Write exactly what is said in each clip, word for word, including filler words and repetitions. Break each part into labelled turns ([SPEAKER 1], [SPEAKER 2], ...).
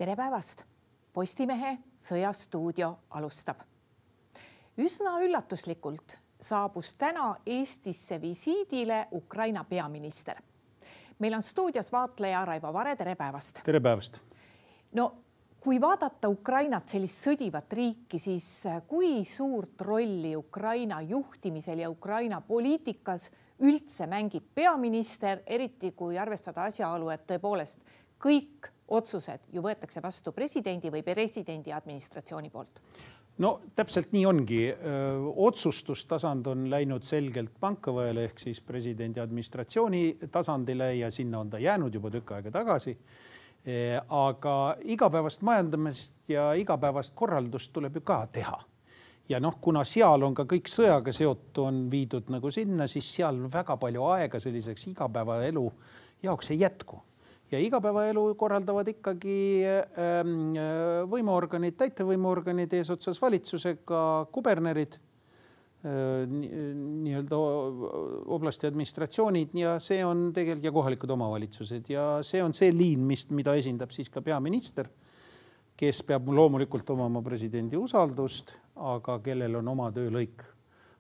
[SPEAKER 1] Tere päevast! Postimehe sõjastuudio alustab. Üsna üllatuslikult saabus täna Eestisse visiidile Ukraina peaminister. Meil on stuudios vaatleja Raivo Vare, tere päevast!
[SPEAKER 2] Tere päevast!
[SPEAKER 1] No, kui vaadata Ukrainat, sellist sõdivat riiki, siis kui suurt rolli Ukraina juhtimisel ja Ukraina poliitikas üldse mängib peaminister, eriti kui arvestada asjaolu, et tõepoolest kõik otsused ju võetakse vastu presidendi või presidendi administratsiooni poolt?
[SPEAKER 2] No täpselt nii ongi. Otsustustasand on läinud selgelt pankavõele ehk siis presidendi administratsiooni tasandile ja sinna on ta jäänud juba tükk aega tagasi. Aga igapäevast majandamist ja igapäevast korraldust tuleb ju ka teha. Ja noh, kuna seal on ka kõik sõjaga seotu on viidud nagu sinna, siis seal väga palju aega selliseks igapäevaelu jaoks ei jätku. Ja igapäevaelu korraldavad ikkagi võimuorganid, täitevvõimuorganid eesotsas valitsusega, kubernerid, nii-öelda oblasti administratsioonid ja see on tegelikult ja kohalikud omavalitsused ja see on see liin, mida esindab siis ka peaminister, kes peab loomulikult omama presidendi usaldust, aga kellel on oma töölõik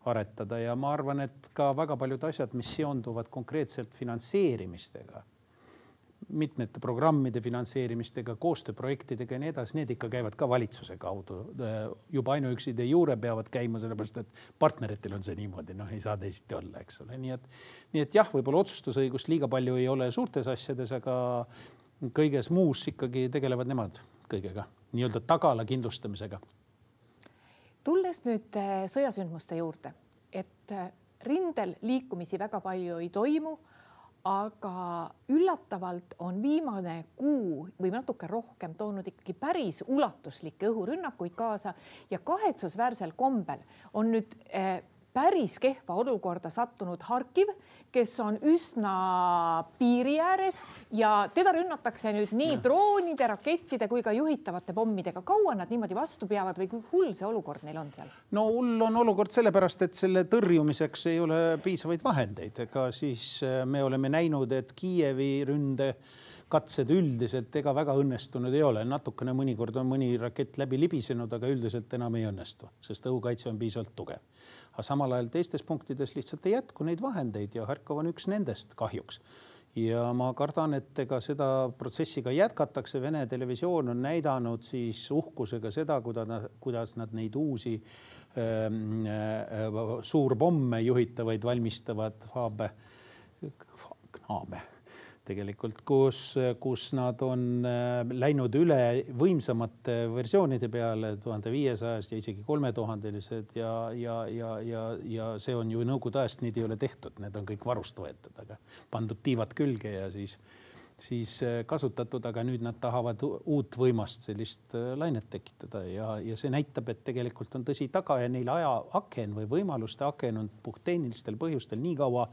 [SPEAKER 2] aretada ja ma arvan, et ka väga paljud asjad, mis seonduvad konkreetselt finantseerimistega, mitmete programmide finantseerimistega, koostööprojektidega ja nii edasi, need ikka käivad ka valitsuse kaudu. Juba ainuüksi de jure peavad käima, sellepärast, et partneritel on see niimoodi, noh ei saa teisiti olla, eks ole. Nii et, nii et jah, võib-olla otsustusõigust liiga palju ei ole suurtes asjades, aga kõiges muus ikkagi tegelevad nemad kõigega, nii-öelda tagala kindlustamisega.
[SPEAKER 1] Tulles nüüd sõjasündmuste juurde, et rindel liikumisi väga palju ei toimu, aga üllatavalt on viimane kuu või natuke rohkem toonud ikkagi päris ulatuslikke õhurünnakuid kaasa ja kahetsusväärsel kombel on nüüd päris kehva olukorda sattunud Harkiv, kes on üsna piiri ääres ja teda rünnatakse nüüd nii droonide, rakettide kui ka juhitavate pommidega. Kaua nad niimoodi vastu peavad või kui hull see olukord neil on seal?
[SPEAKER 2] No hull on olukord sellepärast, et selle tõrjumiseks ei ole piisavaid vahendeid. Ega siis me oleme näinud, et Kiievi ründe katsed üldiselt ega väga õnnestunud ei ole. Natukene mõnikord on mõni rakett läbi libisenud, aga üldiselt enam ei õnnestu, sest õhukaitse on piisavalt tugev. Aga samal ajal teistes punktides lihtsalt ei jätku neid vahendeid ja Harkov on üks nendest kahjuks. Ja ma kardan, et ega seda protsessiga jätkatakse. Vene televisioon on näidanud siis uhkusega seda, kuidas nad neid uusi ähm, äh, suurpomme juhitavaid valmistavad Faabe, Knaabe. Tegelikult, kus, kus nad on läinud üle võimsamate versioonide peale tuhande viiesajast ja isegi kolmetuhandelised ja, ja, ja, ja, ja see on ju nõukogude ajast, neid ei ole tehtud, need on kõik varust võetud, aga pandud tiivad külge ja siis, siis kasutatud, aga nüüd nad tahavad uut võimast sellist lainet tekitada ja, ja see näitab, et tegelikult on tõsi taga ja neil aja aken või võimaluste aken on puhttehnilistel põhjustel nii kaua,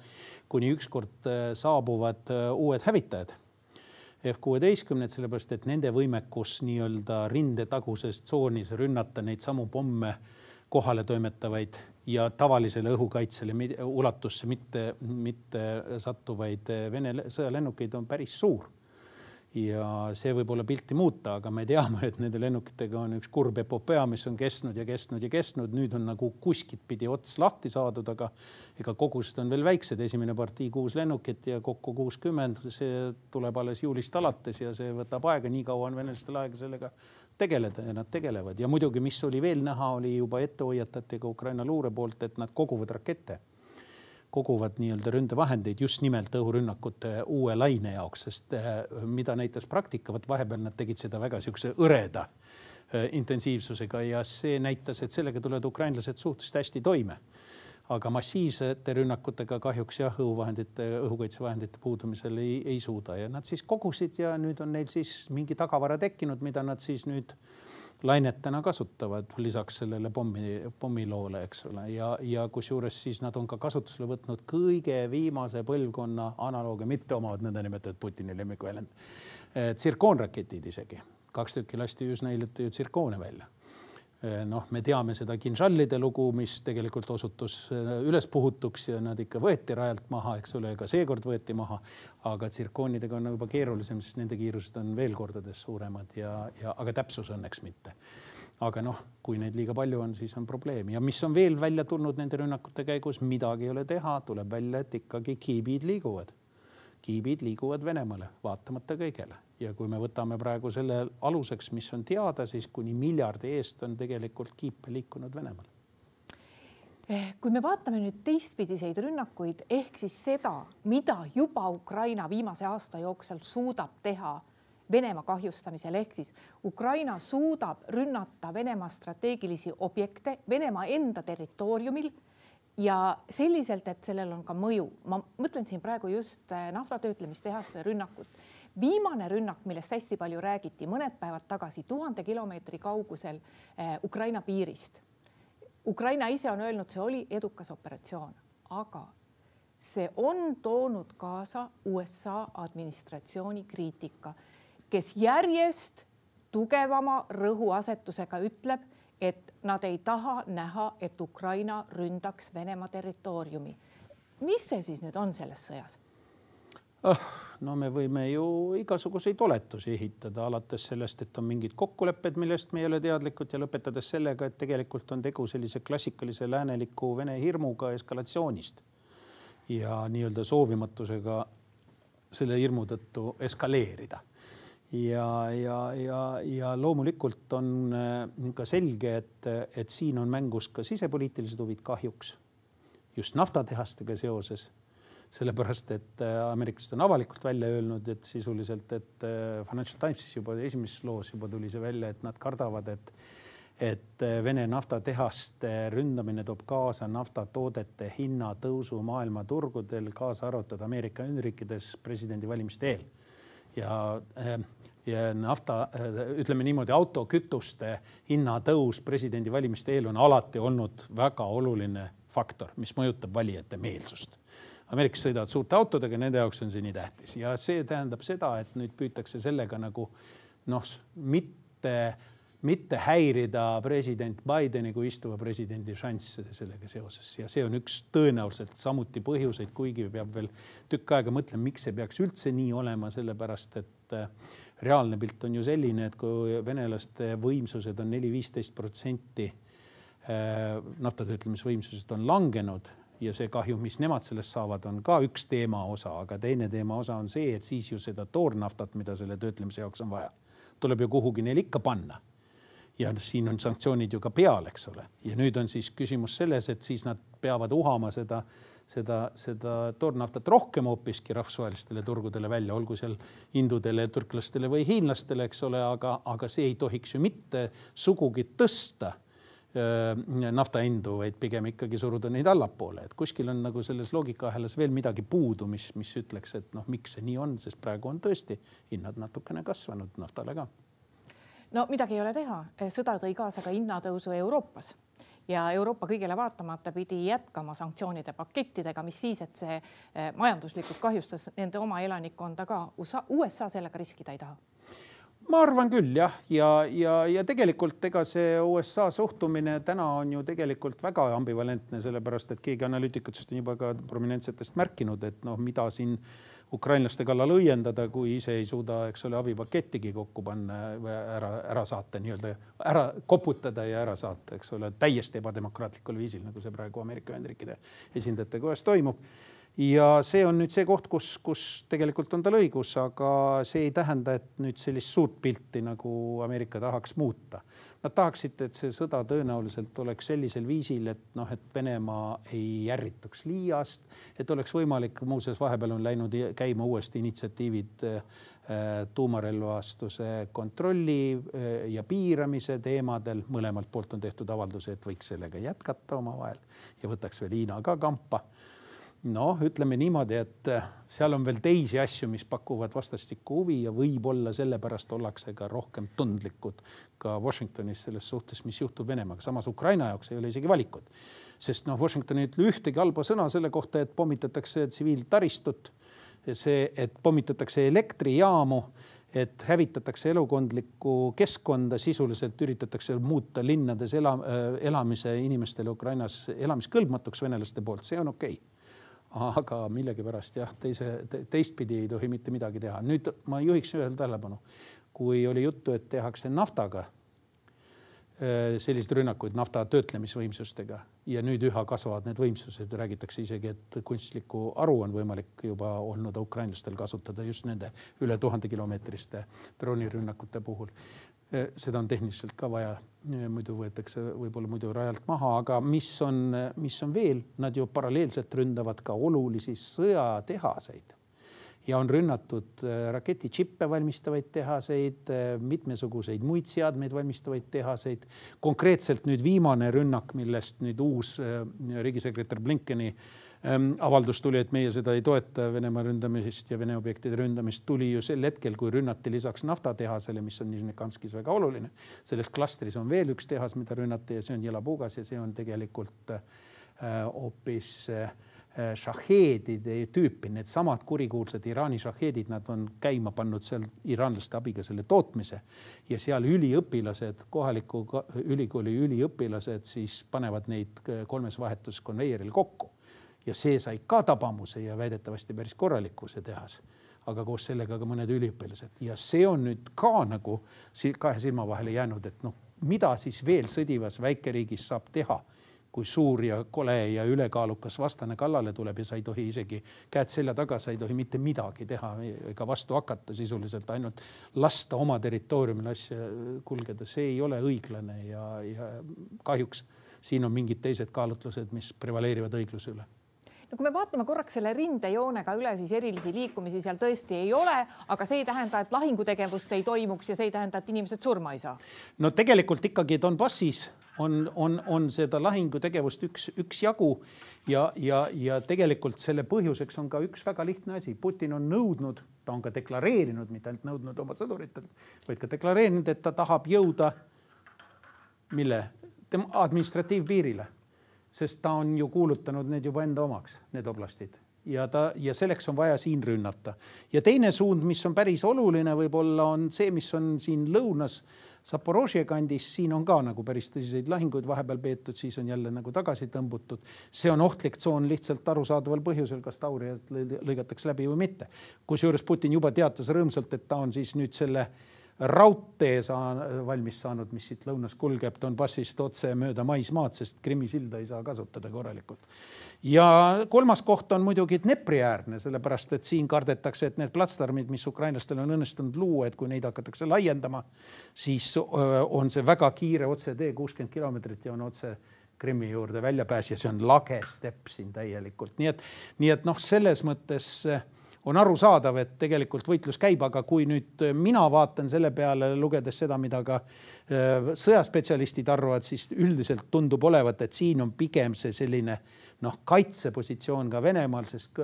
[SPEAKER 2] kuni ükskord saabuvad uued hävitajad F kuusteist, sellepärast, et nende võimekus nii-öelda rindetaguses tsoonis rünnata neid samu pomme kohale toimetavaid ja tavalisele õhukaitsele ulatusse mitte, mitte sattuvaid Vene sõjalennukeid on päris suur. Ja see võib olla pilti muuta, aga me teame, et nende lennukitega on üks kurb epopea, mis on kestnud ja kestnud ja kestnud. Nüüd on nagu kuskilt pidi ots lahti saadud, aga ega kogused on veel väiksed. Esimene partii kuus lennukit ja kokku kuuskümmend. See tuleb alles juulist alates ja see võtab aega. Nii kaua on venelastel aega sellega tegeleda ja nad tegelevad. Ja muidugi, mis oli veel näha, oli juba ettehoiatatega Ukraina luure poolt, et nad koguvad rakette. koguvad nii-öelda ründevahendeid just nimelt õhurünnakute uue laine jaoks, sest mida näitas praktikavat, vahepeal nad tegid seda väga siukse õreda intensiivsusega ja see näitas, et sellega tulevad ukrainlased suhteliselt hästi toime. Aga massiivsete rünnakutega kahjuks jah, õhuvahendite, õhukaitsevahendite puudumisel ei, ei suuda ja nad siis kogusid ja nüüd on neil siis mingi tagavara tekkinud, mida nad siis nüüd lainetena kasutavad lisaks sellele pommi, pommiloole, eks ole. Ja, ja kusjuures siis nad on ka kasutusele võtnud kõige viimase põlvkonna analoogia, mitte omavad nõnda nimetatud Putini lemmikväljend. Tsirkoonraketid isegi. Kaks tükki lasti üsna hiljuti ju tsirkoone välja. noh, me teame seda kinžallide lugu, mis tegelikult osutus üles puhutuks ja nad ikka võeti rajalt maha, eks ole, ka seekord võeti maha, aga tsirkoonidega on juba keerulisem, sest nende kiirused on veel kordades suuremad ja, ja aga täpsus õnneks mitte. Aga noh, kui neid liiga palju on, siis on probleemi. Ja mis on veel välja tulnud nende rünnakute käigus, midagi ei ole teha, tuleb välja, et ikkagi kiibid liiguvad. Kiibid liiguvad Venemaale, vaatamata kõigele. Ja kui me võtame praegu selle aluseks, mis on teada, siis kuni miljardi eest on tegelikult kiipe liikunud Venemaale.
[SPEAKER 1] Kui me vaatame nüüd teistpidiseid rünnakuid, ehk siis seda, mida juba Ukraina viimase aasta jooksul suudab teha Venemaa kahjustamisel, ehk siis Ukraina suudab rünnata Venemaa strateegilisi objekte Venemaa enda territooriumil ja selliselt, et sellel on ka mõju. Ma mõtlen siin praegu just naftatöötlemistehaste rünnakut. Viimane rünnak, millest hästi palju räägiti mõned päevad tagasi tuhande kilomeetri kaugusel Ukraina piirist. Ukraina ise on öelnud, see oli edukas operatsioon, aga see on toonud kaasa U S A administratsiooni kriitika, kes järjest tugevama rõhuasetusega ütleb, et nad ei taha näha, et Ukraina ründaks Venemaa territooriumi. Mis see siis nüüd on selles sõjas?
[SPEAKER 2] Oh, no me võime ju igasuguseid oletusi ehitada, alates sellest, et on mingid kokkulepped, millest me ei ole teadlikud ja lõpetades sellega, et tegelikult on tegu sellise klassikalise lääneliku Vene hirmuga eskalatsioonist ja nii-öelda soovimatusega selle hirmu tõttu eskaleerida. Ja, ja, ja, ja loomulikult on ka selge, et, et siin on mängus ka sisepoliitilised huvid kahjuks just naftatehastega seoses. Sellepärast, et ameeriklased on avalikult välja öelnud, et sisuliselt, et Financial Timesis juba esimeses loos juba tuli see välja, et nad kardavad, et, et Vene naftatehaste ründamine toob kaasa naftatoodete hinna tõusu maailma turgudel, kaasa arvatud Ameerika Ühendriikides presidendi valimiste eel. Ja, ja nafta, ütleme niimoodi, autokütuste hinna tõus presidendi valimiste eel on alati olnud väga oluline faktor, mis mõjutab valijate meelsust. Ameerikas sõidavad suurte autodega, nende jaoks on see nii tähtis. Ja see tähendab seda, et nüüd püütakse sellega nagu noh, mitte, mitte häirida president Bideni kui istuva presidendi šanss sellega seoses. Ja see on üks tõenäoliselt samuti põhjuseid, kuigi peab veel tükk aega mõtlema, miks see peaks üldse nii olema, sellepärast, et reaalne pilt on ju selline, et kui venelaste võimsused on neli viisteist protsenti naftatöötlemisvõimsused on langenud, ja see kahju, mis nemad sellest saavad, on ka üks teema osa, aga teine teema osa on see, et siis ju seda toornaftat, mida selle töötlemise jaoks on vaja, tuleb ju kuhugi neil ikka panna. Ja siin on sanktsioonid ju ka peal, eks ole. Ja nüüd on siis küsimus selles, et siis nad peavad uhama seda, seda, seda toornaftat rohkem hoopiski rahvusvahelistele turgudele välja, olgu seal indudele, türklastele või hiinlastele, eks ole, aga, aga see ei tohiks ju mitte sugugi tõsta nafta hindu, vaid pigem ikkagi suruda neid allapoole. Et kuskil on nagu selles loogikaahelas veel midagi puudu, mis, mis ütleks, et noh, miks see nii on, sest praegu on tõesti hinnad natukene kasvanud naftale ka.
[SPEAKER 1] No midagi ei ole teha. Sõda tõi kaasa ka hinnatõusu Euroopas ja Euroopa kõigele vaatamata pidi jätkama sanktsioonide pakettidega, mis siis, et see majanduslikult kahjustas nende oma elanikkonda ka. U S A sellega riskida ei taha.
[SPEAKER 2] Ma arvan küll, jah. Ja, ja, ja tegelikult ega see U S A suhtumine täna on ju tegelikult väga ambivalentne, sellepärast, et keegi analüütikutest on juba ka prominentsetest märkinud, et noh, mida siin ukrainlaste kallal õiendada, kui ise ei suuda, eks ole, abipakettigi kokku panna, ära, ära saata, nii-öelda ära koputada ja ära saata, eks ole, täiesti ebademokraatlikul viisil, nagu see praegu Ameerika Ühendriikide esindajate kojas toimub. Ja see on nüüd see koht, kus, kus tegelikult on tal õigus, aga see ei tähenda, et nüüd sellist suurt pilti nagu Ameerika tahaks muuta. Nad tahaksid, et see sõda tõenäoliselt oleks sellisel viisil, et, noh, et Venemaa ei järrituks liiast, et oleks võimalik, muuseas vahepeal on läinud käima uuesti initsiatiivid tuumarelvastuse kontrolli ja piiramise teemadel. Mõlemalt poolt on tehtud avalduse, et võiks sellega jätkata oma vahel ja võtaks veel Hiina ka kampa. No, ütleme niimoodi, et seal on veel teisi asju, mis pakuvad vastastikku huvi ja võib-olla sellepärast ollakse ka rohkem tundlikud ka Washingtonis selles suhtes, mis juhtub Venemaaga. Samas Ukraina jaoks ei ole isegi valikud, sest noh, Washington ei ütle ühtegi halba sõna selle kohta, et pommitatakse tsiviiltaristut, see, et pommitatakse elektrijaamu, et hävitatakse elukondlikku keskkonda, sisuliselt üritatakse muuta linnades ela, elamise inimestele Ukrainas elamiskõlbmatuks venelaste poolt, see on okei. Aga millegipärast jah, teise, teistpidi ei tohi mitte midagi teha. Nüüd ma juhiks ühel tähelepanu, kui oli juttu, et tehakse naftaga sellised rünnakuid nafta töötlemisvõimsustega ja nüüd üha kasvavad need võimsused. Räägitakse isegi, et kunstlikku aru on võimalik juba olnud ukrainlastel kasutada just nende üle tuhande kilomeetriste droonirünnakute puhul. Seda on tehniliselt ka vaja, muidu võetakse võib-olla muidu rajalt maha, aga mis on, mis on veel, nad ju paralleelselt ründavad ka olulisi sõjatehaseid. Ja on rünnatud raketičippe valmistavaid tehaseid, mitmesuguseid muid seadmeid valmistavaid tehaseid. Konkreetselt nüüd viimane rünnak, millest nüüd uus riigisekretär Blinkeni avaldus tuli, et meie seda ei toeta Venemaa ründamist ja Vene objektide ründamist, tuli ju sel hetkel, kui rünnati lisaks naftatehasele, mis on Nizhnekamskis väga oluline. Selles klastris on veel üks tehas, mida rünnati ja see on Jelabugas ja see on tegelikult hoopis šaheedide tüüpi, need samad kurikuulsad Iraani šaheedid, nad on käima pannud seal iraanlaste abiga selle tootmise ja seal üliõpilased, kohaliku ülikooli üliõpilased siis panevad neid kolmes vahetus konveieril kokku ja see sai ka tabamuse ja väidetavasti päris korralikkuse tehas, aga koos sellega ka mõned üliõpilased ja see on nüüd ka nagu kahe silma vahele jäänud, et noh, mida siis veel sõdivas väikeriigis saab teha, kui suur ja kole ja ülekaalukas vastane kallale tuleb ja sa ei tohi isegi käed selja taga, sa ei tohi mitte midagi teha ega vastu hakata, sisuliselt ainult lasta oma territooriumil asja kulgeda. See ei ole õiglane ja, ja kahjuks siin on mingid teised kaalutlused, mis prevaleerivad õigluse üle.
[SPEAKER 1] No kui me vaatame korraks selle rindejoonega üle, siis erilisi liikumisi seal tõesti ei ole, aga see ei tähenda, et lahingutegevust ei toimuks ja see ei tähenda, et inimesed surma ei saa. No
[SPEAKER 2] tegelikult ikkagi Donbassis on, on, on seda lahingutegevust üks, üks jagu ja, ja, ja tegelikult selle põhjuseks on ka üks väga lihtne asi. Putin on nõudnud, ta on ka deklareerinud, mitte ainult nõudnud oma sõduritelt, vaid ka deklareerinud, et ta tahab jõuda mille? Administratiivpiirile. Sest ta on ju kuulutanud need juba enda omaks, need oblastid. Ja, ta, ja selleks on vaja siin rünnata. Ja teine suund, mis on päris oluline võib-olla, on see, mis on siin lõunas Zaporožje kandis. Siin on ka nagu päris tõsiseid lahinguid vahepeal peetud, siis on jälle nagu tagasi tõmbutud. See on ohtlik tsoon lihtsalt arusaadaval põhjusel, kas taurijad lõigatakse läbi või mitte. Kusjuures Putin juba teatas rõõmsalt, et ta on siis nüüd selle raudtee saa, valmis saanud, mis siit lõunas kulgeb Donbassist otse mööda maismaad, sest Krimmi silda ei saa kasutada korralikult. Ja kolmas koht on muidugi Dnepri-äärne, sellepärast, et siin kardetakse, et need platsdarmid, mis ukrainlastel on õnnestunud luua, et kui neid hakatakse laiendama, siis on see väga kiire otse tee kuuskümmend kilomeetrit ja on otse Krimmi juurde väljapääs ja see on lage stepp siin täielikult. Nii et, nii et noh, selles mõttes on aru saadav, et tegelikult võitlus käib, aga kui nüüd mina vaatan selle peale, lugedes seda, mida ka sõjaspetsialistid arvavad, siis üldiselt tundub olevat, et siin on pigem see selline noh, kaitsepositsioon ka Venemaal, sest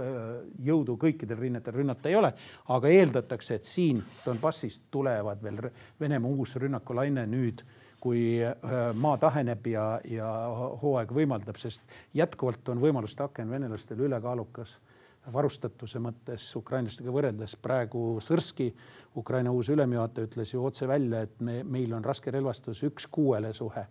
[SPEAKER 2] jõudu kõikidel rinnetel rünnata ei ole, aga eeldatakse, et siin Donbassist tulevad veel Venemaa uus rünnakulaine nüüd, kui maa taheneb ja, ja hooaeg võimaldab, sest jätkuvalt on võimaluste aken venelastel ülekaalukas varustatuse mõttes ukrainlastega võrreldes. Praegu Sõrski, Ukraina uus ülemjuhataja, ütles ju otse välja, et me, meil on raske relvastus üks kuuele suhe.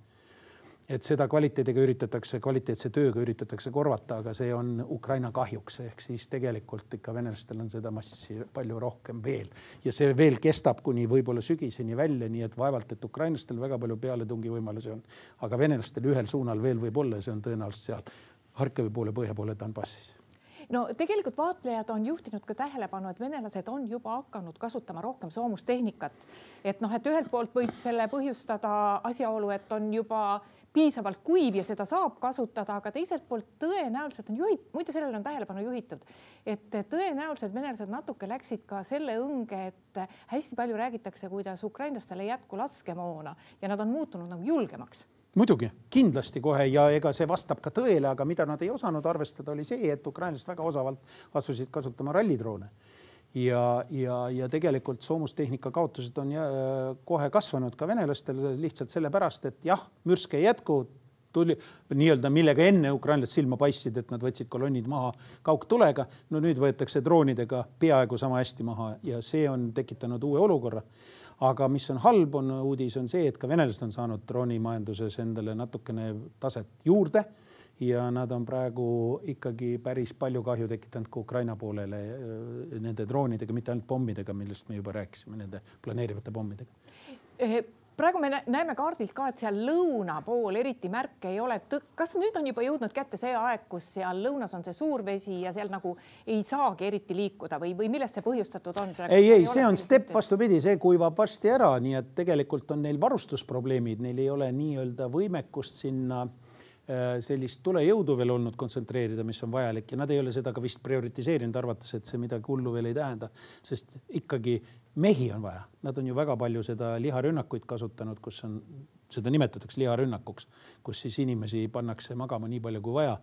[SPEAKER 2] Et seda kvaliteediga üritatakse, kvaliteetse tööga üritatakse korvata, aga see on Ukraina kahjuks. Ehk siis tegelikult ikka venelastel on seda massi palju rohkem veel. Ja see veel kestab kuni võib-olla sügiseni välja, nii et vaevalt, et ukrainlastel väga palju pealetungi võimalusi on. Aga venelastel ühel suunal veel võib olla, see on tõenäoliselt seal Harkivi poole, põhja poole Donbassis.
[SPEAKER 1] No tegelikult vaatlejad on juhtinud ka tähelepanu, et venelased on juba hakanud kasutama rohkem soomustehnikat. Et noh, et ühelt poolt võib selle põhjustada asjaolu, et on juba piisavalt kuiv ja seda saab kasutada, aga teiselt poolt tõenäoliselt on juhit, muide sellele on tähelepanu juhitud, et tõenäoliselt venelased natuke läksid ka selle õnge, et hästi palju räägitakse, kuidas ukrainlastele jätku laskemoona ja nad on muutunud nagu julgemaks.
[SPEAKER 2] Muidugi, kindlasti kohe ja ega see vastab ka tõele, aga mida nad ei osanud arvestada oli see, et ukrainlased väga osavalt asusid kasutama rallidroone. Ja, ja, ja tegelikult soomustehnika kaotused on kohe kasvanud ka venelastel lihtsalt sellepärast, et jah, mürske ei jätku, tuli nii-öelda, millega enne ukrainlased silma paistsid, et nad võtsid kolonnid maha kaugtulega. No nüüd võetakse droonidega peaaegu sama hästi maha ja see on tekitanud uue olukorra. Aga mis on halb, on uudis on see, et ka venelased on saanud droonimajanduses endale natukene taset juurde ja nad on praegu ikkagi päris palju kahju tekitanud ka Ukraina poolele nende droonidega, mitte ainult pommidega, millest me juba rääkisime, nende planeerivate pommidega.
[SPEAKER 1] Praegu me näeme kaardilt ka, et seal lõuna pool eriti märke ei ole. Kas nüüd on juba jõudnud kätte see aeg, kus seal lõunas on see suur vesi ja seal nagu ei saagi eriti liikuda või, või millest see põhjustatud on?
[SPEAKER 2] Praegu? Ei, ei, see on step vastupidi, see kuivab varsti ära, nii et tegelikult on neil varustusprobleemid, neil ei ole nii-öelda võimekust sinna sellist tulejõudu veel olnud kontsentreerida, mis on vajalik ja nad ei ole seda ka vist prioritiseerinud, arvates, et see midagi hullu veel ei tähenda, sest ikkagi mehi on vaja. Nad on ju väga palju seda liharünnakuid kasutanud, kus on, seda nimetatakse liharünnakuks, kus siis inimesi pannakse magama nii palju kui vaja.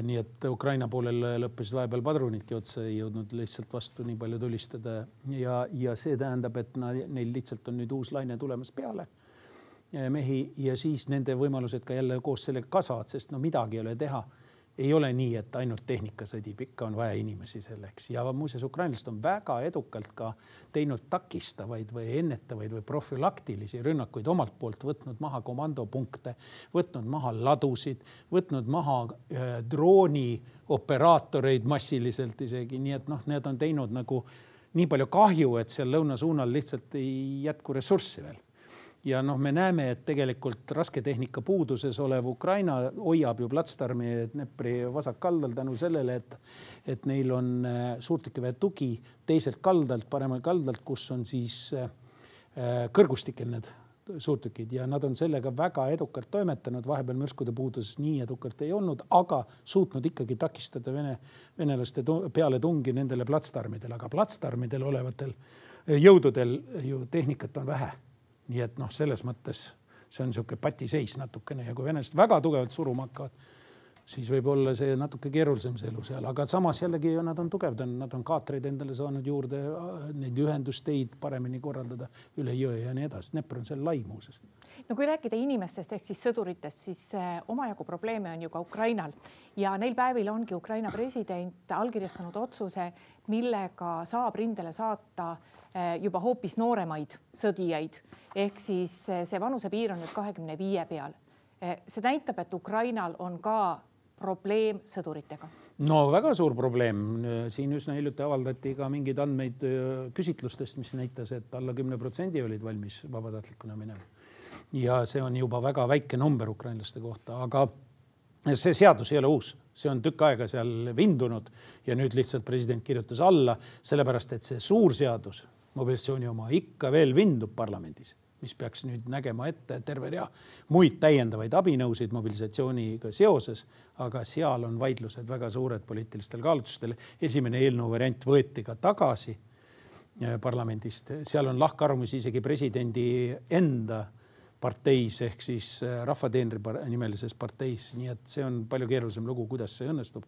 [SPEAKER 2] Nii et Ukraina poolel lõppesid vahepeal padrunidki otsa, ei jõudnud lihtsalt vastu nii palju tulistada ja, ja see tähendab, et neil lihtsalt on nüüd uus laine tulemas peale mehi ja siis nende võimalused ka jälle koos sellega kasvavad, sest no midagi ei ole teha. Ei ole nii, et ainult tehnika sõdib, ikka on vaja inimesi selleks. Ja muuseas, ukrainlased on väga edukalt ka teinud takistavaid või ennetavaid või profülaktilisi rünnakuid omalt poolt, võtnud maha komandopunkte, võtnud maha ladusid, võtnud maha äh, drooni operaatoreid massiliselt isegi. Nii et noh, need on teinud nagu nii palju kahju, et seal lõunasuunal lihtsalt ei jätku ressurssi veel. Ja noh, me näeme, et tegelikult rasketehnika puuduses olev Ukraina hoiab ju platsdarmi Dnepri vasakkaldal tänu sellele, et, et neil on suurtükiväe tugi teiselt kaldalt, paremal kaldalt, kus on siis kõrgustikel need suurtükid ja nad on sellega väga edukalt toimetanud. Vahepeal mürskude puuduses nii edukalt ei olnud, aga suutnud ikkagi takistada vene, venelaste peale tungi nendele platsdarmidele, aga platsdarmidel olevatel jõududel ju tehnikat on vähe. Nii et noh, selles mõttes see on siuke patiseis natukene ja kui venelased väga tugevalt suruma hakkavad, siis võib olla see natuke keerulisem see elu seal, aga samas jällegi nad on tugevdanud, nad on kaatreid endale saanud juurde, neid ühendusteid paremini korraldada üle jõe ja nii edasi. Dnepr on seal lai muuses.
[SPEAKER 1] No kui rääkida inimestest ehk siis sõduritest, siis omajagu probleeme on ju ka Ukrainal ja neil päevil ongi Ukraina president allkirjastanud otsuse, millega saab rindele saata juba hoopis nooremaid sõdijaid. Ehk siis see vanusepiir on nüüd kahekümne viie peal. See näitab, et Ukrainal on ka probleem sõduritega.
[SPEAKER 2] No väga suur probleem. Siin üsna hiljuti avaldati ka mingid andmeid küsitlustest, mis näitas, et alla kümne protsendi olid valmis vabatahtlikuna minema. Ja see on juba väga väike number ukrainlaste kohta, aga see seadus ei ole uus. See on tükk aega seal vindunud ja nüüd lihtsalt president kirjutas alla, sellepärast, et see suur seadus, mobilisatsiooni oma, ikka veel vindub parlamendis, mis peaks nüüd nägema ette terve rea muid täiendavaid abinõusid mobilisatsiooniga seoses, aga seal on vaidlused väga suured poliitilistel kaalutlustel. Esimene eelnõu variant võeti ka tagasi parlamendist. Seal on lahkarvamusi isegi presidendi enda parteis ehk siis rahvateenri nimelises parteis, nii et see on palju keerulisem lugu, kuidas see õnnestub.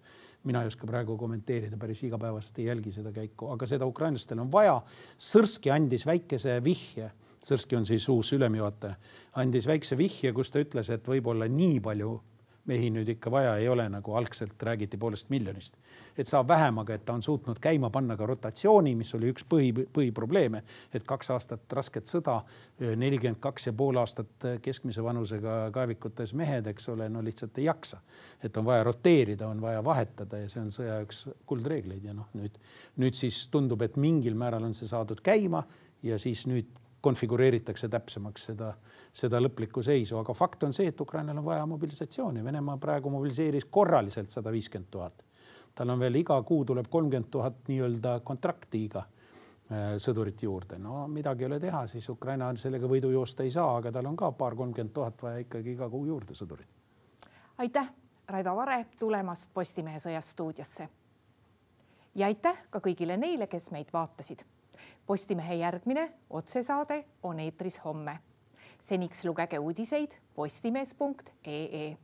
[SPEAKER 2] Mina ei oska praegu kommenteerida, päris igapäevast ei jälgi seda käiku, aga seda ukrainlastel on vaja. Sõrski andis väikese vihje, Sõrski on siis uus ülemjuhataja, andis väikse vihje, kus ta ütles, et võib-olla nii palju mehi nüüd ikka vaja ei ole, nagu algselt räägiti poolest miljonist. Et saab vähem, aga et ta on suutnud käima panna ka rotatsiooni, mis oli üks põhi, põhiprobleeme, et kaks aastat rasket sõda, nelikümmend kaks ja pool aastat keskmise vanusega kaevikutes mehed, eks ole, no lihtsalt ei jaksa. Et on vaja roteerida, on vaja vahetada ja see on sõja üks kuldreegleid. Ja noh, nüüd, nüüd siis tundub, et mingil määral on see saadud käima ja siis nüüd konfigureeritakse täpsemaks seda, seda lõplikku seisu. Aga fakt on see, et Ukrainal on vaja mobilisatsiooni. Venemaa praegu mobiliseeris korraliselt sada viiskümmend tuhat. Tal on veel iga kuu tuleb kolmkümmend tuhat nii-öelda kontraktiga sõdurit juurde. No midagi ei ole teha, siis Ukraina sellega võidu joosta ei saa, aga tal on ka paar kolmkümmend tuhat vaja ikkagi iga kuu juurde sõdurit.
[SPEAKER 1] Aitäh, Raivo Vare, tulemast Postimehe sõjast stuudiosse. Ja aitäh ka kõigile neile, kes meid vaatasid. Postimehe järgmine otsesaade on eetris homme. Seniks lugege uudiseid postimees punkt ee.